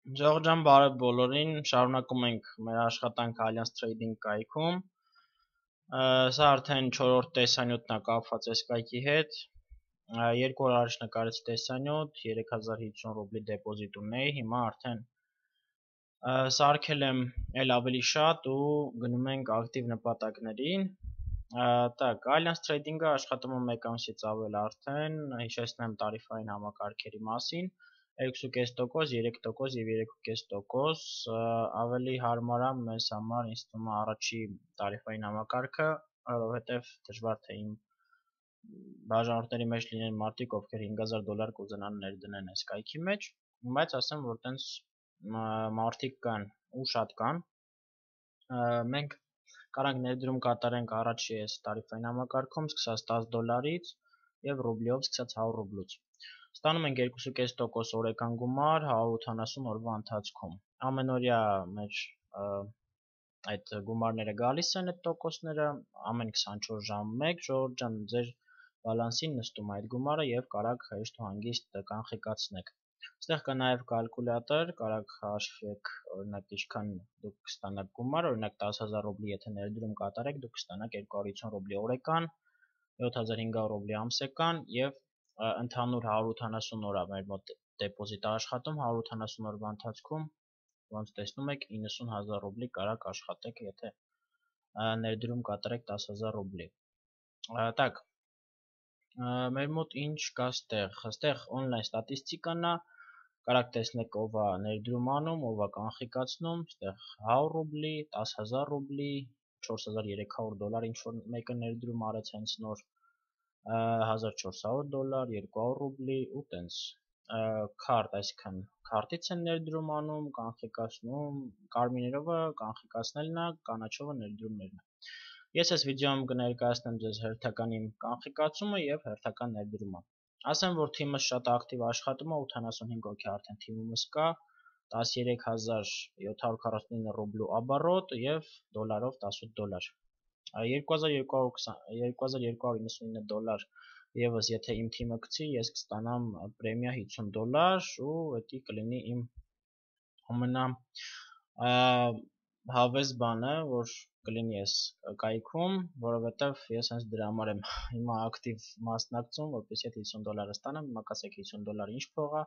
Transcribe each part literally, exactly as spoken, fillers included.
Ժողովուրդ ջան, բարև բոլորին, շարունակում ենք մեր աշխատանքը Alliance Trading կայքում։ Սա արդեն չորրորդ տեսանյութն է կապված այս կայքի հետ։ Երկու օր առաջ նկարեցի տեսանյութ, երեք հազար հիսուն ռուբլի դեպոզիտ ունեի, հիմա արդեն սարքել եմ էլ ավելի շատ ու գնում ենք ակտիվ նպատակներին։ Так, Alliance Trading-ը աշխատում է մեկ ամսից ավել արդեն, հիշեցնեմ տարիֆային համակարգերի մասին։ երկու կես տոկոս, երեք տոկոս և երեք կես տոկոս ավելի հարմար է մեզ համար ինձ թվում է առաջի տարիֆային համակարգը, որովհետև դժվար թե իմ բաժանորդների մեջ լինեն մարդիկ, ովքեր հինգ հազար դոլար կուզենան ներդնեն այս կայքի մեջ, բայց ասեմ, որ տենց մարդիկ կան ու շատ կան։ Մենք կարանք ներդրում կատարենք առաջի այս տարիֆային համակարգում սկսած տասը դոլարից և ռուբլիով սկսած հարյուր ռուբլուց։ Ստանում ենք երկու կես տոկոս օրական գումար հարյուր ութանասուն օրվա ընթացքում։ Ամենօրյա մեր այդ գումարները գալիս են այդ տոկոսները, ամեն քսանչորս ժամ մեկ, ժողովուրդ ջան, ձեր բալանսին նստում է այդ գումարը և կարաք հեշտ ու հանգիստ կանխիկացնեք։ Այստեղ կա նաև կալկուլյատոր, կարաք հաշվեք, օրինակ ինչքան դուք կստանաք գումար, օրինակ տասը հազար ռուբլի եթե ներդրում կատարեք, դուք կստանաք երկու հարյուր հիսուն ռուբլի օրական, յոթ հազար հինգ հարյուր ռուբլի ամսական և ընդհանուր հարյուր ութանասուն օր է մեր մոտ դեպոզիտ աշխատում, հարյուր ութանասուն օրվա ընթացքում, ոնց տեսնում եք, իննսուն հազար ռուբլի կարաք աշխատեք, եթե ներդրում կատարեք տասը հազար ռուբլի։ Так, մեր մոտ ինչ կա ստեղ, ստեղ on-line ստատիստիկան է, կարաք տեսնեք ով է ներդրում անում, ով է կանխիկացնում, ստեղ հարյուր ռուբլի, տասը հազար ռուբլի, չորս հազար երեք հարյուր դոլար ինչ որ մեկը ներդրում արեց հենց նոր, հազար չորս հարյուր դոլար, երկու հարյուր ռուբլի ու տենց քարտ, այսինքն քարտից են ներդրում անում, կանխիկացնում, կարմիրովը կանխիկացնելն է, կանաչովը ներդրումներն է։ Ես այս վիդեոյում կներկայացնեմ ձեզ հերթական իմ կանխիկացումը և հերթական ներդրումը։ Ասեմ, որ թիմս շատ ակտիվ աշխատում է, ութանասունհինգ հոգի արդեն թիմումս կա, տասներեք հազար յոթ հարյուր քառասունինը ռուբլու աբառոտ և դոլարով տասութ դոլար։ երկու հազար երկու հարյուր իննսունինը դոլար եւս եթե իմ թիմը գցի, ես կստանամ պրեմիա հիսուն դոլար ու դա կլինի իմ ամենա հավես բանը, որ կլինի այս կայքում, որովհետև ես հենց դրա համար եմ հիմա ակտիվ մասնակցում, որպեսզի այդ հիսուն դոլարը ստանամ, հիմա կասեք հիսուն դոլար ինչ փող է,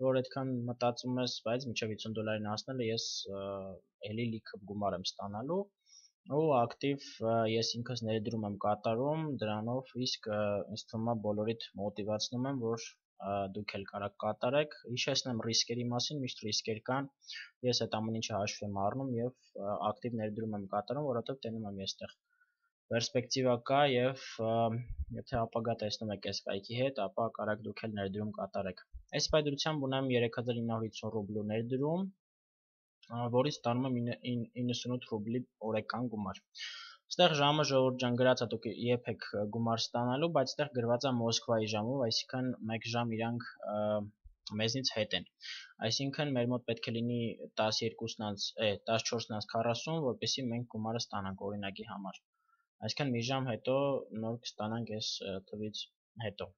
որ այդքան մտածում ես, բայց մինչև հիսուն դոլարին հասնելը ես էլի լիքը գումար եմ ստանալու ու ակտիվ ես ինքս ներդրում եմ կատարում դրանով, իսկ ինձ թվում է բոլորիդ մոտիվացնում եմ, որ դուք էլ կարաք կատարեք, հիշեցնեմ ռիսկերի մասին, միշտ ռիսկեր կան, ես այդ ամեն ինչը հաշվի եմ առնում և ակտիվ ներդրում եմ կատարում, որովհետև տենում եմ ես այդտեղ պերսպեկտիվա կա և եթե ապագա տեսնում եք այս կայքի հետ, ապա կարաք դուք էլ ներդրում կատարեք։ Այս պայծրությամբ ունեմ երեք հազար ինը հարյուր հիսուն ռուբլու ներդրում, որից ստանում եմ իննսունութ ռուբլի օրական գումար։ Այստեղ ժամը ժողովուրդ ջան գրած է, դուք երբ եք գումար ստանալու, բայց այստեղ գրված է Մոսկվայի ժամով, այսինքն մեկ ժամ իրանք մեզնից հետ են։ Այսինքն մեր մոտ պետք է լինի տասնչորսն անց քառասուն, որպեսզի մենք գումարը ստանանք օրինակի համար։ Այսինքն մի ժամ հետո նոր կստանանք այս թվից հետո։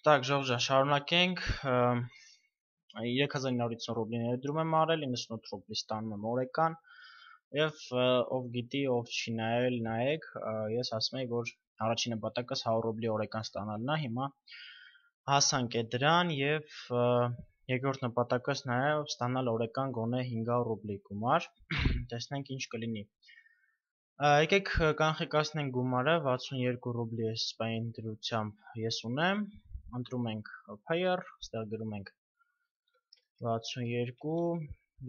Так, ժողովուրդ ջան, շարունակենք։ երեք հազար ինը հարյուր հիսուն ռուբլի ներդրում եմ արել, իննսունութ ռուբլի ստանում եմ օրական և ով գիտի, ով չի նայել, նայեք, ես ասում եի, որ առաջին նպատակս հարյուր ռուբլի օրական ստանալն է, հիմա հասանք է դրան և երկրորդ նպատակս նաև ստանալ օրական գոնե հինգ հարյուր ռուբլի գումար, տեսնենք ինչ կլինի։ Եկեք կանխիկացնենք գումարը, վաթսունյոթ ռուբլի այս սպային դրությամբ ես ունեմ, ընտրում ենք Payer, ստեղ գրում ենք վաթսունյոթ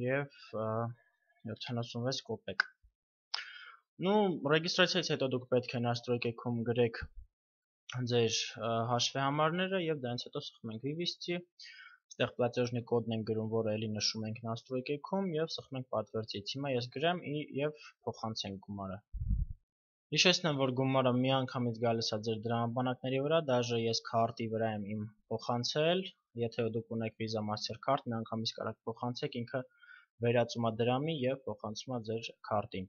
և յոթանասունվեց կոպեկ։ Ну, ռեգիստրացիայից հետո դուք պետք է настройкայքում գրեք ձեր հաշվի համարները և դրանից հետո սխում ենք վիվիսти, այստեղ платежный կոդն ենք գրում, որը էլի նշում ենք настройкայքում և սխում ենք подтвердить։ Հիմա ես գրեմ և փոխանցենք գումարը։ Հիշեցնեմ, որ գումարը միանգամից գալիս է ձեր դրամաբանակների վրա, դաժե ես քարտի վրա եմ իմ փոխանցել, եթե դուք ունեք Visa Mastercard, միանգամից կարաք փոխանցեք, ինքը վերածում է դրամի և փոխանցում է ձեր քարտին։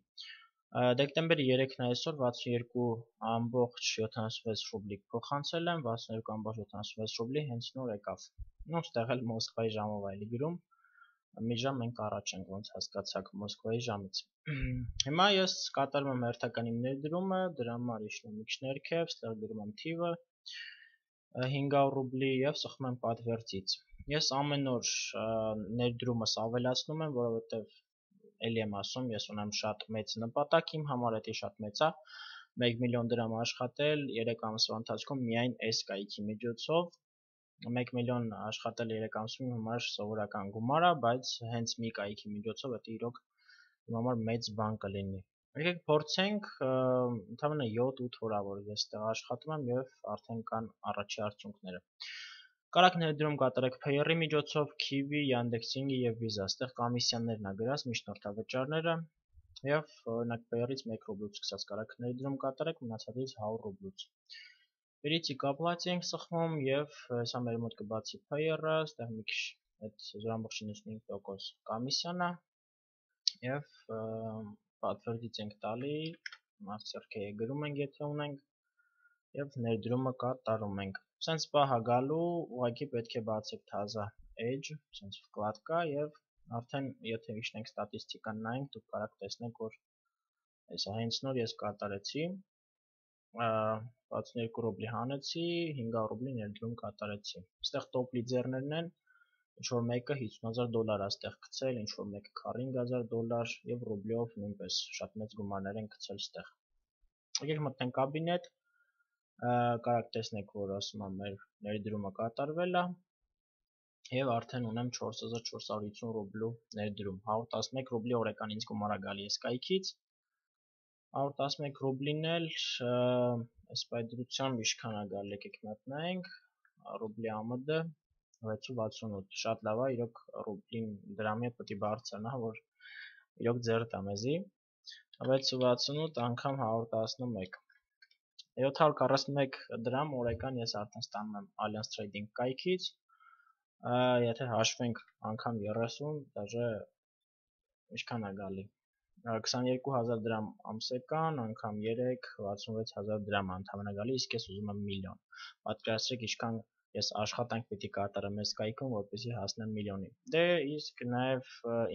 Դեկտեմբերի երեքն է այսօր վաթսունյոթ ամբողջ յոթանասունվեց ռուբլի փոխանցել եմ, վաթսունյոթ ամբողջ յոթանասունվեց ռուբլի հենց նոր եկավ։ Ну, ստեղ էլ Մոսկվայի ժամով է էլի գրում, մի ժամ մենք առաջ ենք, ոնց հասկացաք Մոսկվայի ժամից։ Հիմա ես կատարում եմ հերթական իմ ներդրումը, դրա համար իջնում եմ ներքև, ստեղ գրում եմ թիվը հինգ հարյուր ռուբլի եւ սխում եմ պատվերծից։ Ես ամեն օր ներդրումս ավելացնում եմ, որովհետեւ էլի եմ ասում, ես ունեմ շատ մեծ նպատակ, իմ համար դա շատ մեծ է, մեկ միլիոն դրամ աշխատել երեք ամսվա ընթացքում միայն այս կայքի միջոցով, մեկ միլիոն աշխատել երեք ամսում իմ համար սովորական գումար է, բայց հենց մի կայքի միջոցով դա իրոք իմ համար մեծ բան կլինի։ Եկեք փորձենք, ընդամենը յոթ-ութ օր որ ես այդտեղ աշխատում եմ եւ արդեն կան առաջի արդյունքները։ Կարաք ներդրում կատարեք Payer-ի միջոցով, Kiwi, Yandex.Inc-ի եւ Visa, այդտեղ կոմիսիաներն ա գրած, միջնորդավճարները եւ օրինակ Payer-ից մեկ ռուբլուց սկսած կարաք ներդրում կատարեք, մնացածից հարյուր ռուբլուց։ Перейти к оплате ենք սխմում եւ հեսա մեր մոտ կբացի Payer-ը, այդտեղ մի քիչ այդ զրո ամբողջ իննսունհինգ տոկոս կոմիսիան է եւ պատվերից ենք տալի, master-key-ը գրում ենք եթե ունենք եւ ներդրումը կատարում ենք։ Սենց պահա գալու, ուղղակի պետք է բացեք թազա Edge, սենց վկլադկա եւ արդեն եթե իջնենք ստատիստիկան նայենք, դուք կարաք տեսնեք, որ հեսա հենց նոր ես կատարեցի վաթսունութ ռուբլի հանեցի, հինգ հարյուր ռուբլի ներդրում կատարեցի։ Այստեղ top leader-ներն են, ինչ որ մեկը հիսուն հազար դոլար է այստեղ գցել, ինչ որ մեկը քառինգ հազար դոլար եւ ռուբլիով նույնպես շատ մեծ գումարներ են գցել այստեղ։ Եկեք մտնենք կաբինետ, կարաք տեսնեք, որ ասում եմ մեր ներդրումը կատարվել է եւ արդեն ունեմ չորս հազար չորս հարյուր հիսուն ռուբլու ներդրում, հարյուր տասնմեկ ռուբլի օրական ինձ գումար է գալի այս կայքից։ հարյուր տասնմեկ ռուբլին էլ այս պայծրությամբ ինչքան է գալի, եկեք մտնենք, ռուբլի ա էմ դե վեց ու վաթսունութ, շատ լավ է, իրոք ռուբլին դրամի հետ պետք է բարձրանա, որ իրոք ձեռդ է մեզի, վեց ու վաթսունութ անգամ հարյուր տասնմեկ, յոթ հարյուր քառասունմեկ դրամ օրական ես արդեն ստանում եմ Allianz Trading կայքից, եթե հաշվենք անգամ երեսուն, դաժե ինչքան է գալի, քսաներկու հազար դրամ ամսեկան, անգամ երեք, վաթսունվեց հազար դրամ ընդամենը գալի, իսկ ես ուզում եմ միլիոն, պատկերացրեք ինչքան ես աշխատանք պիտի կատարեմ այս կայքում, որպեսզի հասնեմ միլիոնի։ Դե իսկ նաև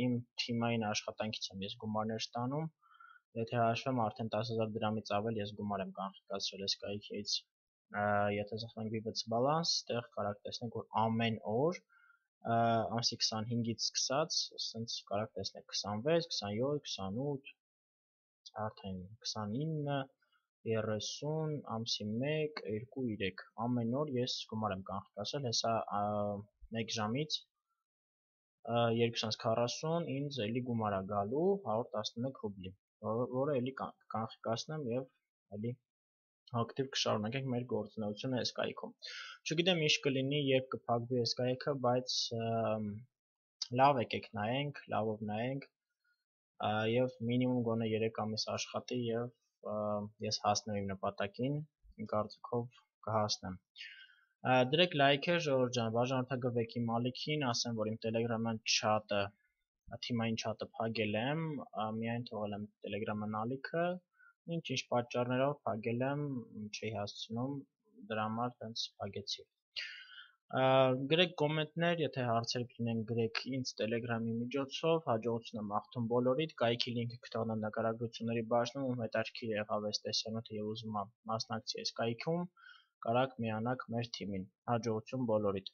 իմ թիմային աշխատանքից եմ ես գումարներ ստանում, եթե հաշվեմ արդեն տասը հազար դրամից ավել ես գումար եմ կանխկացրել այս կայքից։ Եթե զսպենք Vivac balance, այդտեղ կարաք տեսնեք, որ ամեն օր ամսի քսանհինգից սկսած, ասենց կարաք տեսնեք քսանվեց, քսանյոթ, քսանութ, արդեն քսանինը, երեսուն, ամսի մեկ, երկու, երեք, ամեն օր ես գումար եմ կանխկացրել, հեսա մեկ ժամից երկու տասնմեկ քառասուն ինձ էլի գումար է գալու հարյուր տասնմեկ ռուբլի, որը էլի կանխկացնեմ եւ էլի ակտիվ կշարունակենք մեր գործունեությունը այս կայքում։ Չգիտեմ ինչ կլինի, երբ կփակվի այս կայքը, բայց լավ եկեք նայենք, լավով նայենք եւ մինիմում գոնե երեք ամիս աշխատի եւ ես հասնեմ իմ նպատակին, իմ կարծիքով կհասնեմ։ Դրեք լայքեր, ժողովուրդ ջան, բաժանորդագրվեք իմ ալիքին, ասեմ, որ իմ Telegram-յան չաթը, թիմային չաթը փակել եմ, միայն թողել եմ Telegram-յան ալիքը, ինչ-ինչ պատճառներով փակել եմ, չի հասցնում, դրա համար տենց փակեցի։ Գրեք կոմենտներ, եթե հարցեր ունենք, գրեք ինձ Telegram-ի միջոցով, հաջողություն եմ աղթում բոլորիդ, կայքի լինքը կթողնեմ նկարագրությունների բաժնում, ում հետաքրքիր եղավ այս տեսանյութը եւ ուզում է մասնակցի այս կայքում, կարաք միանաք մեր թիմին, հաջողություն բոլորիդ։